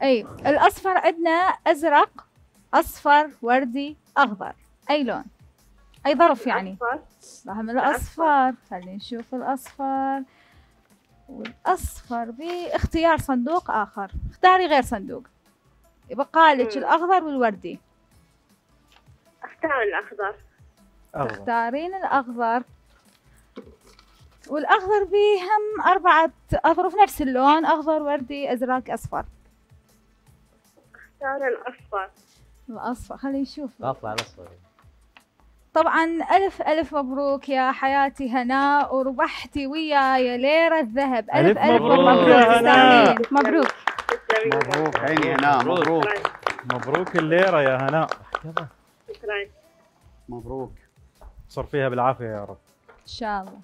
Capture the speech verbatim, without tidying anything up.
اي الاصفر عندنا ازرق، اصفر، وردي، اخضر. اي لون؟ اي ظرف يعني؟ أصفر. راح من الاصفر. خلينا نشوف الاصفر. والاصفر باختيار صندوق اخر، اختاري غير صندوق. يبقى لك الاخضر والوردي. اختار الاخضر. تختارين الاخضر. والاخضر به هم اربعة اظرف نفس اللون، اخضر، وردي، ازرق، اصفر. اختار الاصفر. الاصفر. خلينا نشوف. اطلع الاصفر. طبعا الف الف مبروك يا حياتي هناء، وربحتي وياي ليرة ذهب. الف الف مبروك مبروك يا هناء. تستاهلين. مبروك. مبروك عيني هناء، مبروك. مبروك الليرة يا هناء. شكرا. مبروك. صر فيها بالعافية يا رب. ان شاء الله.